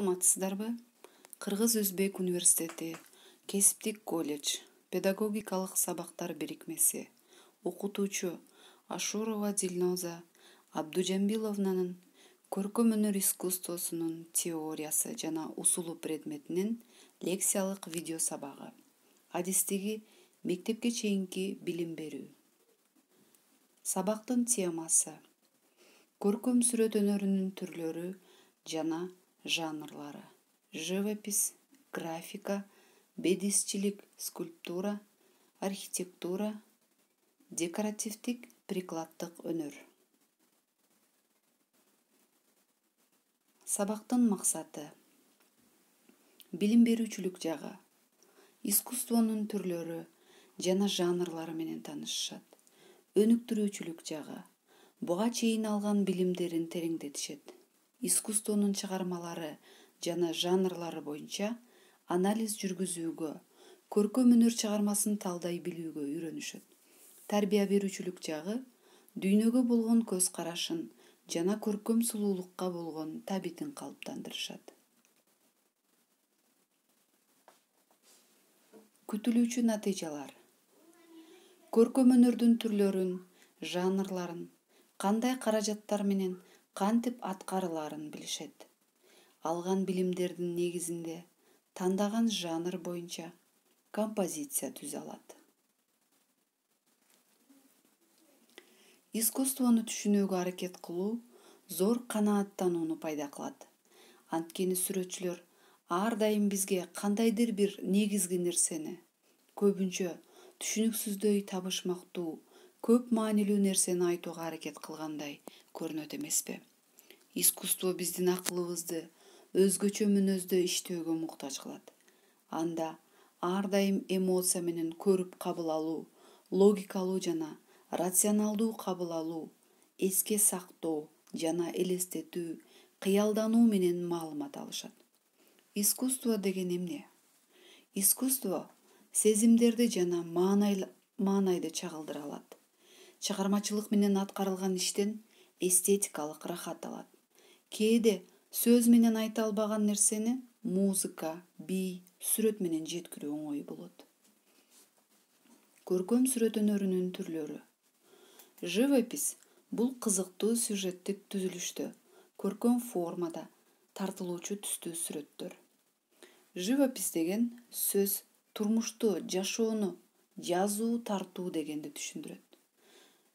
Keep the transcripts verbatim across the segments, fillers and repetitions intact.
Саламатсыздарбы? Кыргыз-Өзбек университети, Кесиптик колледж, педагогикалык сабактар бирикмеси, окутуучу Ашурова Дилноза Абдужамбиловнанын көркөм өнөр искусствосунун теориясы жана усулу предметинин лекциялык видео сабагы. Адистиги мектепке чейинки билим берүү. Сабактын темасы: көркөм сүрөт өнөрүнүн түрлөрү жана жанрлары. Живопись, графика, бедисчилик, скульптура, архитектура, декоративдик прикладдык өнөр. Сабактын максаты: билим берүүчүлүк жагы, искусствонун түрлөрү жана жанрлары менен таанышышат. Өнүктүрүүчүлүк жагы: буга чейин алган билимдерин тереңдетишет. Искусствонун чыгармалары жана жанрлары боюнча анализ жүргүзүүгө, көркөм өнөр чыгармасын талдай билүүгө үйрөнүшөт. Тарбия берүүчүлүк жагы: дүйнөгө болгон көз карашын жана көркөм сулуулукка болгон табитин калыптандырышат. Күтүлүүчү натыйжалар: көркөм өнөрдүн түрлөрүн, жанрларын, кандай каражаттар менен кантип аткарылаарын билишет. Алган билимдердин негизинде тандаган жанр боюнча композиция түзө алат. Искусствону түшүнүүгө аракет кылуу зор канааттанууну пайда кылат. Анткени сүрөтчүлөр ар дайым бизге кандайдыр бир негизги нерсени, көбүнчө түшүнүксүздөй табышмактуу, көп маанилүү нерсени айтууга аракет кылгандай көрүнөт эмеспи? Искусство биздин акылыбызды өзгөчө мүнөздө иштөөгө муктаж кылат. Анда ар дайым эмоция менен көрүп кабыл алуу, логикалуу жана рационалдуу кабыл алуу, эске сактоо жана элестетүү, кыялдануу менен маалымат алышат. Искусство деген эмне? Искусство сезимдерди жана маанайды чагылдыра алат. Чыгармачылык менен аткарылган иштен эстетикалык рахат алат. Кээде сөз менен айта албаган нерсени музыка, бий, сүрөт менен жеткирүү оңой болот. Көркөм сүрөт өнөрүнүн түрлөрү. Живопись бул кызыктуу сюжеттик түзүлүштө, көркөм формада тартылуучу түстүү сүрөттөр. Живопись деген сөз турмушту, жашоону, жазуу, тартуу дегенди түшүндүрөт.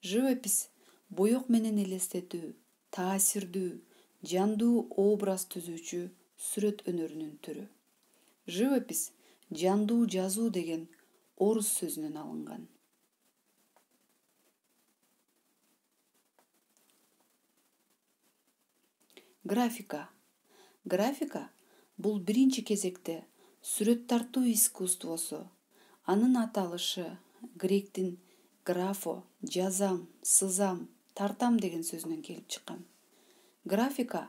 Живопись боек менен элестетүү, таасирдүү, жандуу образ түзүүчү сүрөт өнөрүнүн түрү. Живопись жандуу жазуу деген орус сөзүнөн алынган. Графика. Графика бул биринчи кезекте сүрөт тартуу искусствосу. Анын аталышы гректин графо, жазам, сызам, тартам деген сөзүнөн келип чыккан. Графика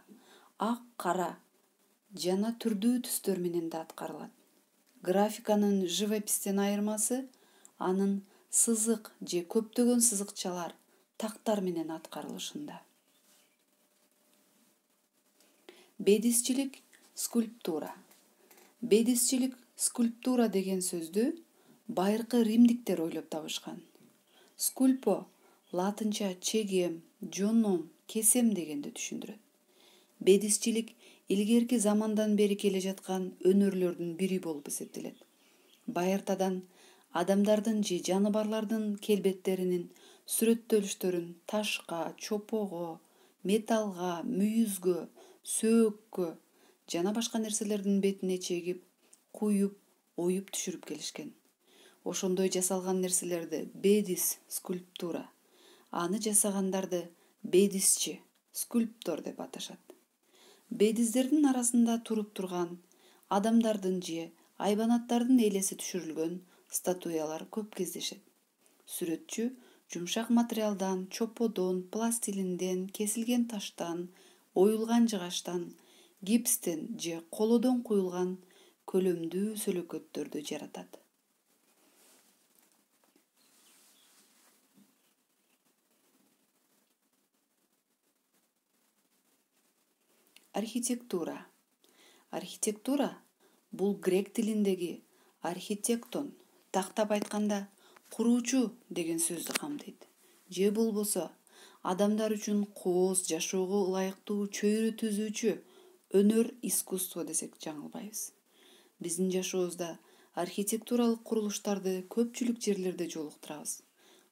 ак, кара жана түрдүү түстөр менен да аткарылат. Графиканын живопистен айырмасы анын сызык же көптөгөн сызыкчалар, тактар менен аткарылышында. Бедисчилик, скульптура. Бедисчилик, скульптура деген сөздү байыркы римдиктер ойлоп табышкан. Скульпо латынча чегем, жоном, кесем дегенди түшүндүрөт. Бедисчилик илгерки замандан бери келе жаткан өнөрлөрдүн бири болуп эсептелет. Байыртадан адамдардын же жаныбарлардын келбеттеринин сүрөттөлүштөрүн ташка, чопого, металлга, мүйүзгө, сөөккө жана башка нерселердин бетине чегип, куюп, оюп түшүрүп келишкен. Ошондой жасалган нерселерди бедис, скульптура, аны жасагандарды бедисчи, скульптор деп аташат. Бедиздердин арасында туруп турган адамдардын же айбанаттардын элеси түшүрүлгөн статуялар көп кездешет. Сүрөтчү жумшак материалдан, чоподон, пластилинден, кесилген таштан, оюлган жыгачтан, гипстен же колодон куюлган көлөмдүү сөлөкөттөрдү жаратат. Архитектура. Архитектура бул грек тилиндеги архитектон, тактап айтканда куруучу деген сөздү камтыйт. Же болбосо адамдар үчүн кооз жашоого ылайыктуу чөйрө түзүүчү өнөр, искусство десек жаңылбайбыз. Биздин жашообузда архитектуралык курулуштарды көпчүлүк жерлерде жолуктурабыз.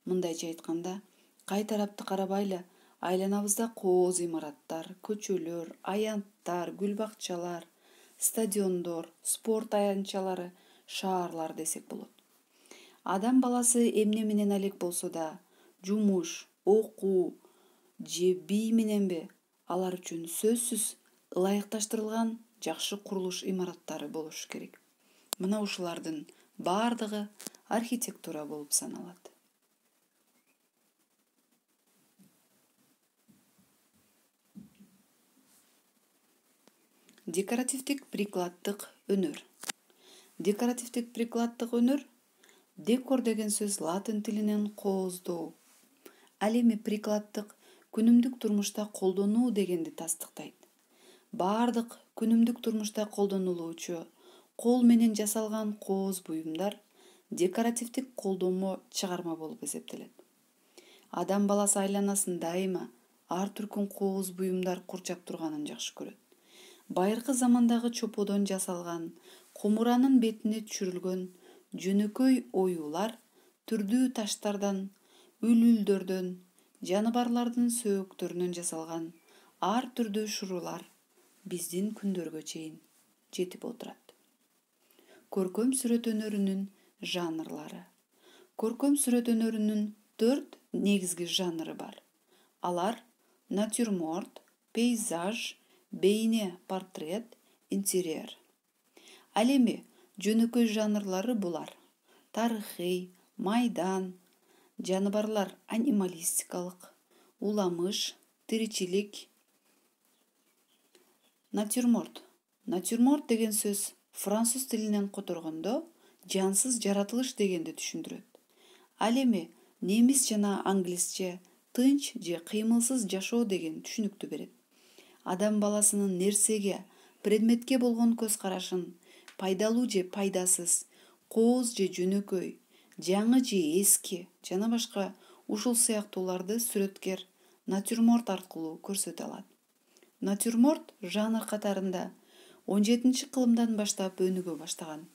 Мындайча айтканда, кай тарапты карабайлы айланабызда кооз имараттар, көчөлөр, аянттар, гүл бакчалар, стадиондор, спорт аянтчалары, шаарлар десек болот. Адам баласы эмне менен алек болсо да, жумуш, окуу же бий мененби, алар үчүн сөзсүз ылайыкташтырылган жакшы курулуш имараттары болушу керек. Мына ушулардын баардыгы архитектура болуп саналат. Декоративдик прикладдык өнөр. Декоративдик прикладдык өнөр декор деген сөз латын тилинен кооздоо. Ал эми прикладдык күнүмдүк турмушта колдонуу дегенди тастыктайт. Баардык күнүмдүк турмушта колдонулуучу кол менен жасалган кооз буюмдар декоративдик колдонмо чыгарма болуп эсептелет. Адам баласы айланасын дайыма ар түркүн кооз буюмдар курчап турганын жакшы көрөт. Байыркы замандагы чоподон жасалган, комуранын бетине түшүрүлгөн жөнөкөй оюулар түрдүү таштардан, үлүлдөрдөн, жаныбарлардын сөөктөрүнөн жасалган ар түрдүү шурулар биздин күндөргө чейин жетип отурат. Көркөм сүрөт өнөрүнүн жанрлары. Көркөм сүрөт өнөрүнүн төрт негизги жанры бар. Алар натюрморт, пейзаж, бейне портрет, интерьер. Ал эми жөнөкөй жанрлары булар: тарыхый, майдан, жаныбарлар анималистикалык, уламыш, тиричилик. Натюрморт. Натюрморт деген сөз француз тилинен которгондо жансыз жаратылыш дегенди түшүндүрөт. Ал эми немис жана англисче тынч же кыймылсыз жашоо деген түшүнүктү берет. Адам баласынын нерсеге, предметке болгон көз карашын, пайдалуу же пайдасыз, кооз же жөнөкөй, жаңы же эски жана башка ушул сыяктууларды сүрөткер натюрморт аркылуу көрсөтө алат. Натюрморт жанр катарында он жетинчи кылымдан баштап өнүгө баштаган.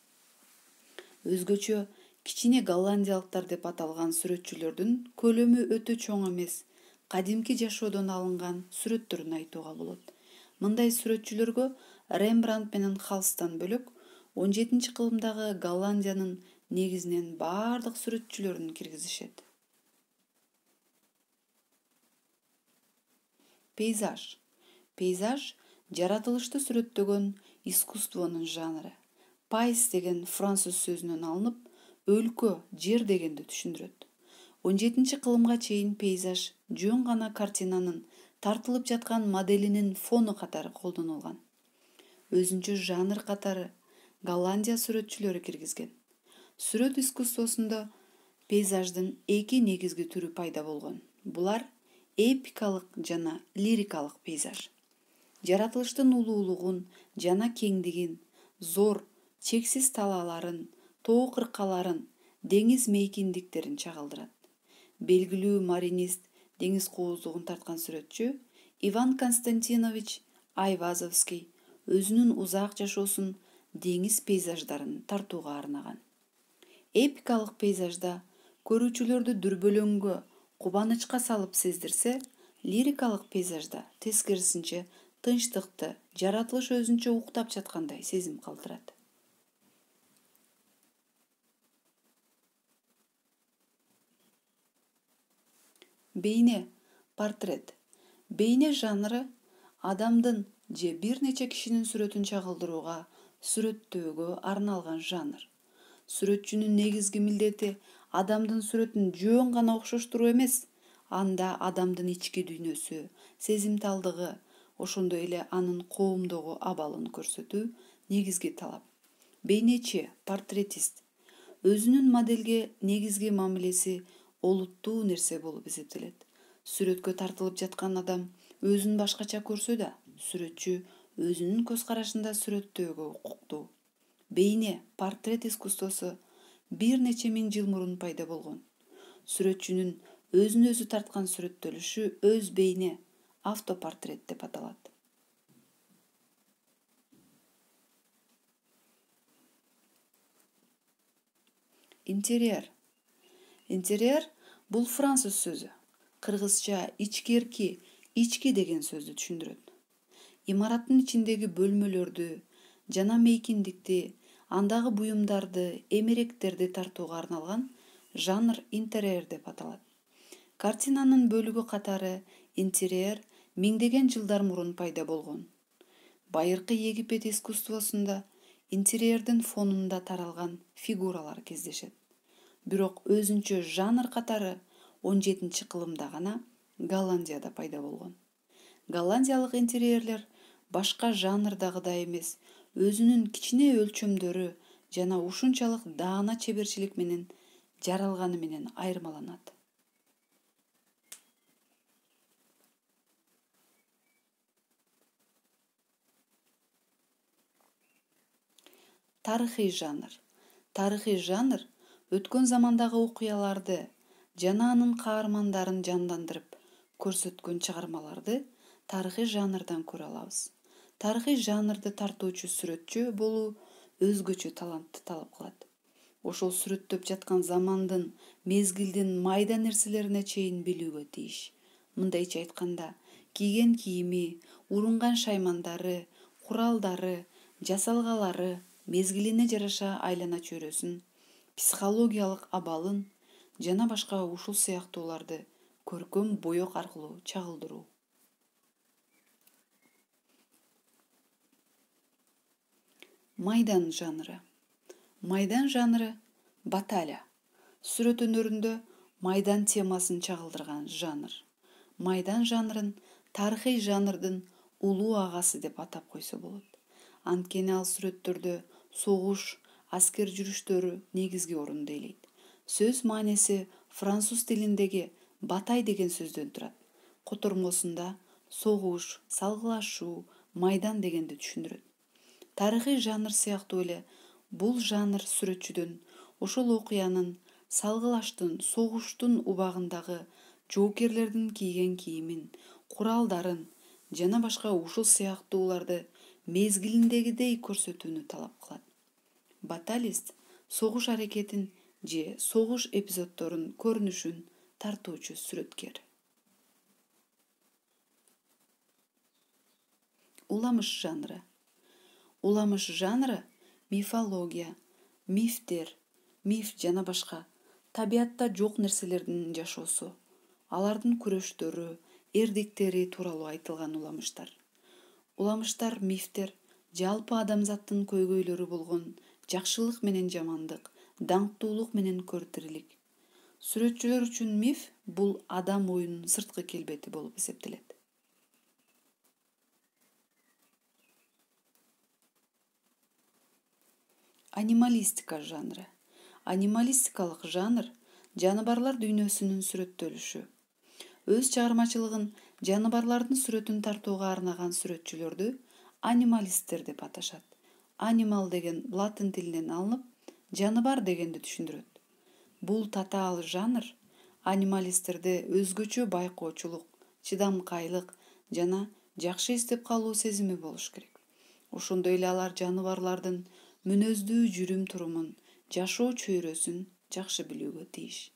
Өзгөчө кичине голландиялыктар деп аталган сүрөтчүлөрдүн көлөмү өтө чоң эмес, кадимки жашоодон алынган сүрөттөрүн айтууга болот. Мындай сүрөтчүлөргө Рембрандт менен Халстан бөлөк он жетинчи кылымдагы Голландиянын негизинен баардык сүрөтчүлөрүн киргизишет. Пейзаж. Пейзаж жаратылышты сүрөттөгөн искусствонун жанры. Пайс деген француз сөзүнөн алынып, өлкө, жер дегенди түшүндүрөт. он жетинчи кылымга чейин пейзаж жөн гана картинанын тартылып жаткан моделинин фону катары колдонулган. Өзүнчө жанр катары Голландия сүрөтчүлөрү киргизген. Сүрөт искусствосунда пейзаждын эки негизги түрү пайда болгон. Булар эпикалык жана лирикалык пейзаж. Жаратылыштын улуулугун жана кеңдигин, зор, чексиз талааларын, тоо кыркаларын, деңиз мейкиндиктерин чагылдырат. Белгилүү маринист, деңиз кооздугун тарткан сүрөтчү Иван Константинович Айвазовский өзүнүн узак жашоосун деңиз пейзаждарын тартууга арнаган. Эпикалык пейзажда көрүүчүлөрдү дүрбөлөңгө, кубанычка салып сездирсе, лирикалык пейзажда тескерисинче тынчтыкты, жаратылыш өзүнчө уктап жаткандай сезим калтырат. Бейне портрет. Бейне жанры адамдын же бир нече кишинин сүрөтүн чагылдырууга, сүрөттөөгө арналган жанр. Сүрөтчүнүн негизги милдети адамдын сүрөтүн жөн гана окшоштуруу эмес, анда адамдын ички дүйнөсү, сезимталдыгы, ошондой эле анын коомдогу абалын көрсөтүү негизги талап. Бейнечи, портретист. Өзүнүн моделге негизги мамилеси олуттуу нерсе болуп эсептелет. Сүрөткө тартылып жаткан адам өзүн башкача көрсө да, сүрөтчү өзүнүн көз карашында сүрөттөөгө укуктуу. Бейне портрет искусствосу бир нече миң жыл мурун пайда болгон. Сүрөтчүнүн өзүн өзү тарткан сүрөттөлүшү өз бейне автопортрет деп аталат. Интерьер. Интерьер бул француз сөзү. Кыргызча ичкерки, ички деген сөздү түшүндүрөт. Имараттын ичиндеги бөлмөлөрдү жана мейкиндикти, андагы буюмдарды, эмеректерди тартууга арналган жанр интерьер деп аталат. Картинанын бөлүгү катары интерьер миңдеген жылдар мурун пайда болгон. Байыркы Египет искусствосунда интерьердин фонунда таралган фигуралар кездешет. Бирок өзүнчө жанр катары он жетинчи кылымда гана Голландияда пайда болгон. Голландиялык интерьерлер башка жанрдагыдай эмес, өзүнүн кичине өлчөмдөрү жана ушунчалык даана чеберчилик менен жаралганы менен айырмаланат. Тарыхый жанр. Тарыхый жанр өткөн замандагы окуяларды жана анын каармандарын жандандырып көрсөткөн чыгармаларды тарыхый жанрдан көрө алабыз. Тарыхый жанрды тартуучу сүрөтчү болуу өзгөчө талантты талап кылат. Ошол сүрөттөп жаткан замандын, мезгилдин майда нерселерине чейин билүүгө тийиш. Мындайча айтканда, кийген кийими, урунган шаймандары, куралдары, жасалгалары, мезгилине жараша айлана чөйрөсүн, психологиялык абалын жана башка ушул сыяктууларды көркөм боек аркылуу чагылдыруу. Майдан жанры. Майдан жанры баталия. Сүрөт өнөрүндө майдан темасын чагылдырган жанр. Майдан жанрын тарыхый жанрдын улуу агасы деп атап койсо болот. Анткени ал сүрөттөрдө согуш, аскер жүрүштөрү негизги орунду ээлейт. Сөз мааниси француз тилиндеги батай деген сөздөн турат. Котормосунда согуш, салгылашуу, майдан дегенди түшүндүрөт. Тарыхый жанр сыяктуу эле бул жанр сүрөтчүдөн ошол окуянын, салгылаштын, согуштун убагындагы жоокерлердин кийген кийимин, куралдарын жана башка ушул сыяктууларды мезгилиндегидей көрсөтүүнү талап кылат. Баталист согуш аракетин же согуш эпизоддорун көрүнүшүн тартуучу сүрөткер. Уламыш жанры. Уламыш жанры мифология, мифтер, миф жана башка табиятта жок нерселердин жашоосу, алардын күрөштөрү, эрдиктери тууралуу айтылган уламыштар. Уламыштар мифтер жалпы адамзаттын көйгөйлөрү болгон жакшылык менен жамандык, даңктуулук менен көртирилик. Сүрөтчүлөр үчүн миф бул адам оюнун сырткы келбети болуп эсептелет. Анималистика жанры. Анималистикалык жанр жаныбарлар дүйнөсүнүн сүрөттөлүшү. Өз чыгармачылыгын жаныбарлардын сүрөтүн тартууга арнаган сүрөтчүлөрдү анималисттер деп аташат. Анимал деген латын тилинен алынып, жаныбар дегенди түшүндүрөт. Бул татаал жанр анималисттерде өзгөчө байкоочулук, чыдамкайлык жана жакшы эстеп калуу сезими болуш керек. Ошондой эле алар жаныбарлардын мүнөздүү жүрүм-турумун, жашоо чөйрөсүн жакшы билүүгө тийиш.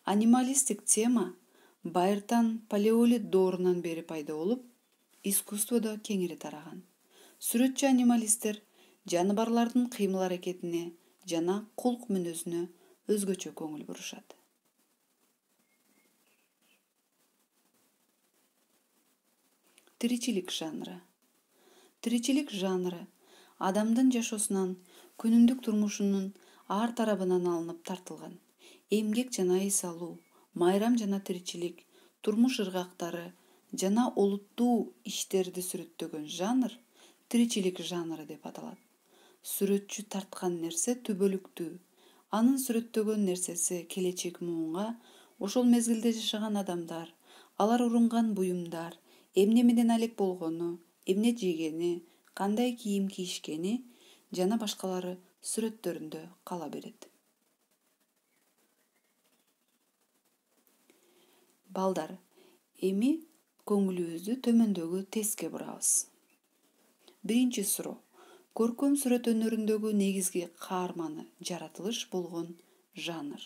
Анималисттик тема байыртан палеолит доорунан бери пайда болуп, искусстводо кеңири тараган. Сүрөтчү анималисттер жаныбарлардын кыймыл-аракетине жана кулк мүнөзүнө өзгөчө көңүл бурушат. Тиричилик жанры. Тиричилик жанры адамдын жашоосунан, күнүмдүк турмушунун ар тарабынан алынып тартылган. Эмгек жана эс алуу, майрам жана тиричилик, турмуш ыргактары жана олуттуу иштерди сүрөттөгөн жанр тиричилик жанры деп аталат. Сүрөтчү тарткан нерсе түбөлүктүү. Анын сүрөттөгөн нерсеси келечек муунга, ошол мезгилде жашаган адамдар, алар урунган буюмдар, эмне менен алек болгону, эмне жегени, кандай кийим кийишкени жана башкалары сүрөттөрүндө кала берет. Балдар, эми көңүлүбүздү төмөндөгү тестке бурабыз. Биринчи суроо. Көркөм сүрөт өнөрүндөгү негизги каарманы жаратылыш болгон жанр.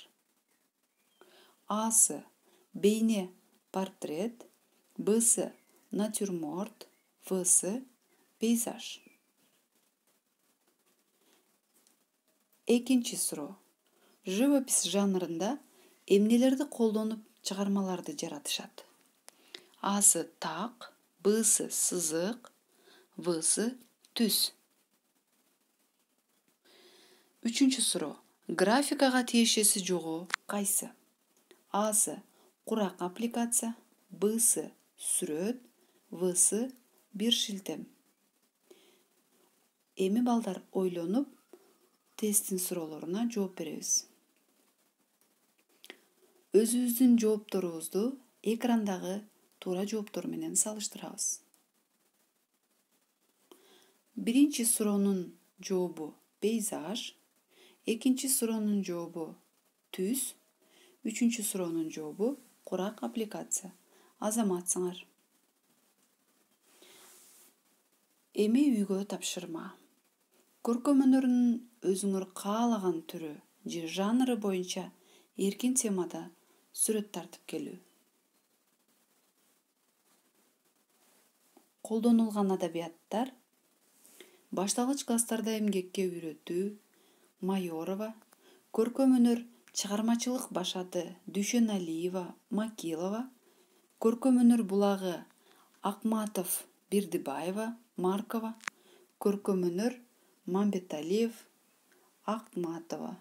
Асы бейне портрет, Бсы натюрморт, Всы пейзаж. Экинчи суроо. Живопись жанрында эмнелерди колдонуп чыгармаларды жаратышат? Асы так, Бсы сызык, Всы түс. Үчүнчү суроо. Графикага тиешеси жогу кайсы? Асы курак аппликация, Бсы сүрөт, Всы бир шилтем. Эми балдар ойлонуп, тесттин суроолоруна жооп беребиз. Өзүбүздүн жоопторубузду экрандагы туура жооптор менен салыштырабыз. Биринчи суроонун жообу пейзаж, экинчи суроонун жообу түс, үчүнчү суроонун жообу курак аппликация. Азаматсыңар. Эми үйгө тапшырма. Көркөм өнөрүнүн өзүңөр каалаган түрү же жанры боюнча эркин темада сүрөт тартып келүү. Колдонулган адабияттар: башталгыч класстарда эмгекке үйрөтүү, Майорова, көркөм өнөр чыгармачылык башаты Дүйшөналиева, Макилова, көркөм өнөр булагы Акматов, Бердибаева, Маркова, көркөм өнөр Мамбеталиев, Акматова.